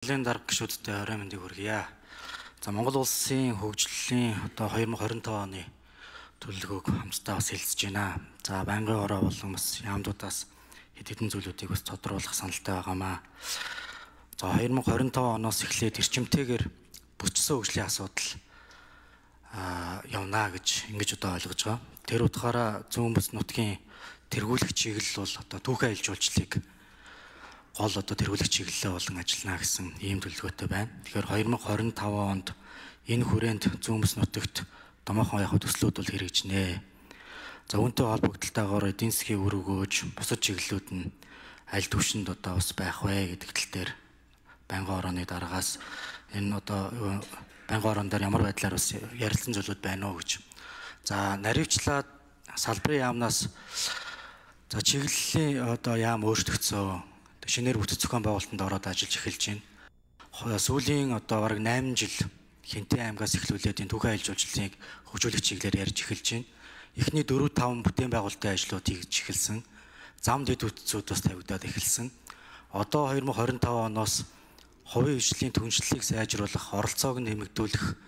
Лийн дарга гишүүдтэй орой мэндийг хүргье. За Монгол улсын хөгжлийн одоо 2025 оны төлөвлөгөөг хамтдаа бас хэлцэж байна. За байнгын ороо болон бас яамдуудаас хэд хэдэн зүйлүүдийг бас тодруулах саналтай байгаамаа. За 2025 оноос эхлээд эрчимтэйгээр бүсчсэн хөгжлийн асуудал явна гэж ингэж одоо ойлгож байгаа. Тэр утгаараа зүүн бүс нутгийн тэргүүлэх чиглэл бол одоо түүхэн аялал жуулчлалыг гол одоо тэргүүлэх чиглэлээ болон ажиллана гэсэн ийм төлөвлөгөөтэй байна. Тэгэхээр 2025 онд энэ хүрээнд зүүн бүс нутагт томоохон яг төслүүд бол хэрэгжинэ. За үүнтэй холбогдлолтойгоор эдийн засгийн үр өгөөж бусад чиглэлүүд нь аль түвшинд одоо бас байх вэ гэдэг тал дээр байнгын орооны дараагаас энэ одоо байнгын ороон дээр ямар байдлаар бас ярилцсан зүйлүүд байна уу гэж. За наривчлаад салбарын яамнаас за чиглэлийн одоо яам өөрчлөгдсөн шинээр бүтэц зохион байгуулалтанд ороод ажиллаж эхэлж байна. Сүүлийн одоо бараг 8 жил Хинтээ аймгаас эхлүүлээд энэ түүхэн аялал жуулчлалыг хөгжүүлэх чиглэлээр ярьж эхэлж байна. Эхний 4-5 бүтээн байгуулалтын ажлууд хийж эхэлсэн. Зам дэд бүтцүүд бас тавигдаад эхэлсэн. Одоо 2025 оноос хувийн хөгжлийн түншлэлийг сайжруулах, оролцоог нэмэгдүүлэх,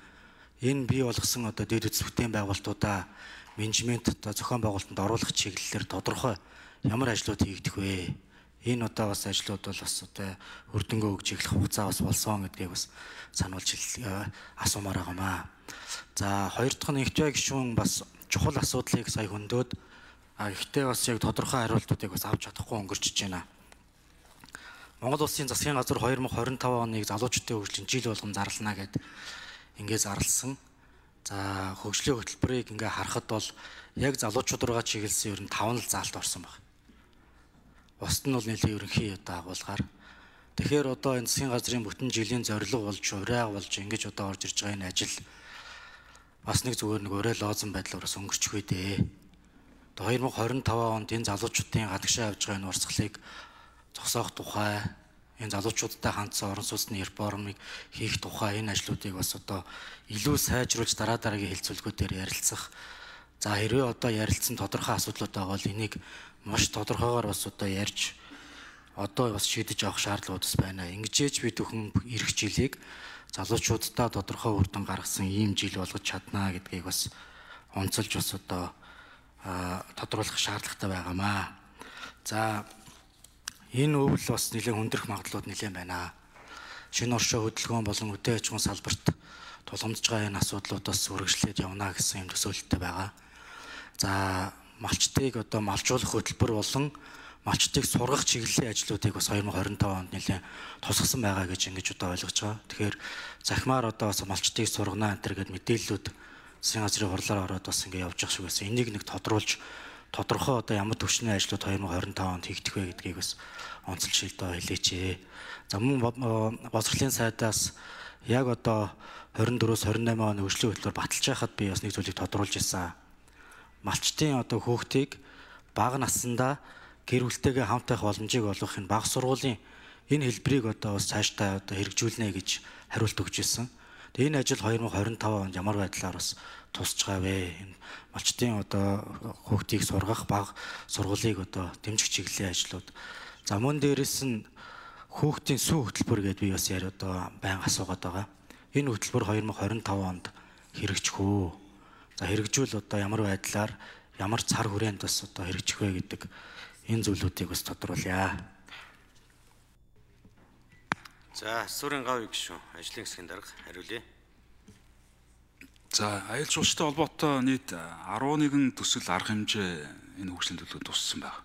энэ бий болгосон одоо дэд бүтц бүтээн байгуулалтуудаа менежмент одоо зохион байгуулалтанд оруулах чиглэлээр тодорхой ямар ажлууд хийгдэх вэ? Энэ одоо бас ажлууд бол бас одоо үрдэнгөө өгж эхлэх хугацаа бас болсон гэдгийг бас сануулж асуумаар байгаамаа. За хоёр дахь нь ихтэй гишүүн бас чухал асуудлыг сая хөндөд ихтэй бас яг тодорхой хариултуудыг бас авч чадахгүй өнгөрчөж байна. Монгол улсын засгийн газар 2025 оныг залуучуудын хөгжлийн жил болгон зарлана гэд ингээд зарласан. За хөгжлийн хөтөлбөрийг ингээд харахад бол яг залуучууд руугаа чиглэсэн ер нь 5 заалт орсон байна. Бусд нь бол нэлийн ерөнхий одоо агуулгаар. Тэгэхээр одоо энэ засгийн газрын бүтэн жилийн зорилго болж, урайга болж ингэж одоо орж ирж байгаа энэ ажил бас нэг зүгээр нэг урай лоозон байдлаар бас өнгөрчих үү дээ. Одоо 2025 онд энэ залуучуудын гадагшаа явж байгаа энэ урсгалыг зогсоох тухай, энэ залуучуудтай хандсан орон сууцны реформыг хийх тухай энэ ажлуудыг бас одоо илүү сайжруулж дараагийн хэлцүүлгүүдээр ярилцах. За хэрвээ одоо ярилцсан тодорхой асуудлууд байгаа бол энийг маш тодорхойгоор бас одоо ярьж одоо бас шийдэж авах шаардлага бас байна. Ингэжээж би түүхэн ирэх жилийг залуучуудаа тодорхой үр дүн гаргасан ийм жил болгож чаднаа гэдгийг бас онцолж бас одоо тодруулах шаардлагатай байгаамаа. За энэ өвөл бас нэлээд хүндрэх магадлалууд нэлээд байна. Шинэ оршин хөдөлгөөн болон үдээ аж ахуйн салбарт тулгамдж байгаа энэ асуудлуудаас үргэлжлээд явна гэсэн юм төсөөлөлттэй байгаа. За малчтыг одоо малжуулах хөтөлбөр болон малчтыг сургах чиглэлийн ажлуудыг бас 2025 онд нэлээд тусгасан байгаа гэж ингэж одоо ойлгож байгаа. Тэгэхээр захимаар одоо бас малчтыг сургана энэ гэдэг мэдээллүүд засгийн газрын хурлаар ороод бас ингэ явж байгаа шиг байсан. Энийг нэг тодруулж тодорхой одоо ямар төвчний ажлууд 2025 онд хийгдэх вэ гэдгийг бас онцлж одоо хэлээч. За мөн боловсролын сайдаас яг одоо 24-с 28 оны хөгжлийн хөтөлбөр баталж байхад би бас нэг зүйлийг тодруулж ирсэн. Малчтын одоо хүүхдийг бага наснда гэр бүлтэйгээ хамт байх боломжийг олгох энэ бага сургуулийн энэ хэлбэрийг одоо бас цаашдаа одоо хэрэгжүүлнэ гэж хариулт өгч ирсэн. Тэгээ энэ ажил 2025 онд ямар байдлаар бас тусч байгаа вэ? Энэ малчтын одоо хүүхдийг сургах бага сургуулийг одоо дэмжих чиглэлийн ажлууд. За мөн дээрэс нь хүүхдийн сүү хөтөлбөр гэдээ би бас одоо байнга асуугаад байгаа. Энэ хөтөлбөр 2025 онд хэрэгжих үү? За хэрэгжүүл одоо ямар байдлаар ямар цар хүрээнд бас одоо хэрэгжих вэ гэдэг энэ зүйлүүдийг бас тодруулъя. За Сүрэн гав гишүүн ажлын хэсгийн дарга хариулъя. За аялал жуулчтай холбоотой нийт 11 төсөл арга хэмжээ энэ хөгжлийн төлөвлөгөөнд туссан байна.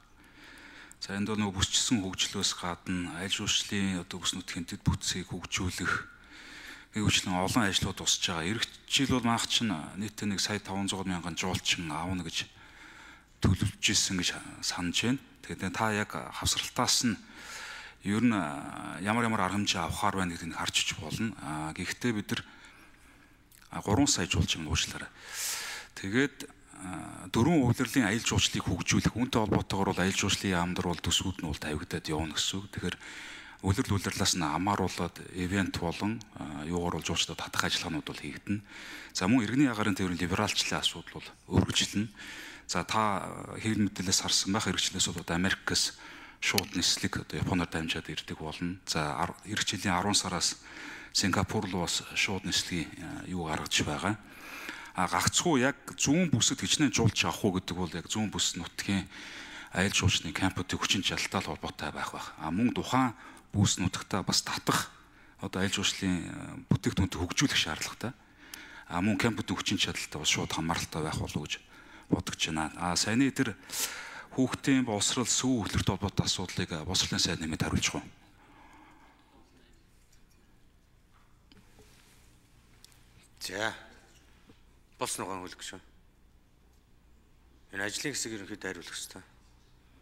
За энд бол нөгөө бүсчсэн хөгжлөөс гадна аялал жуулчлалын одоо бүс нутгийн дэд бүтцийг хөгжүүлэх хөгжлийн олон ажлууд тусч байгаа. Ирэх жил бол манайх чинь нийтдээ нэг сая 500 мянган жуулчин аавна гэж төлөвлөж ирсэн гэж санаж байна. Тэгээд та яг хавсралтаас нь ер нь ямар арга хэмжээ авахар байна гэдгийг харж болно. Гэхдээ бид нар 3 сая жуулчин уучлаарай. Тэгээд 4 улирлын аялал жуулчлалыг хөгжүүлэх үүнтэй холбоотойгоор бол аялал жуулчлалын яамдар бол төсвүүд нь бол тавигдаад явна гэсэн үг. Тэгэхээр улирлаас нь амааруулад ивент болон юугаар бол жуулчдад татах ажиллагаанууд бол хийгдэнэ. За мөн иргэний агарын тээврийн либералчлалын асуудал бол үргэлжилнэ. За та хэвлэл мэдээлэлээс харсан байх хэрэгчлээс бол Америкээс шууд нислэг одоо Японоор дамжаад ирдэг болно. За эх жилийн 10 сараас Сингапур руу бас шууд нислэгийн юу гаргаж байгаа. Гагцхүү яг зүүн бүсэд хичнээн жуулч авах уу гэдэг бол яг зүүн бүс нутгийн аялал жуулчны кампуудын хүчин чадалтай холбоотой байх. Мөн тухайн бүс нутагтаа бас татах одоо аялал жуулчлалын бүтээгдэхүүнтэй хөгжүүлэх шаардлагатай. Мөн кампуудын хүчин чадалтай бас шууд хамааралтай байх болов гэж бодож байна. Саяны тэр хүүхдийн боловсрал сүү хөдлөлтөд холбоотой асуудлыг боловсролын сайд нэмэд хариулчих уу? За. Болсон угаан хөлөх шүү. Энэ ажлын хэсэг ерөнхийдөө хариулах хэрэгтэй.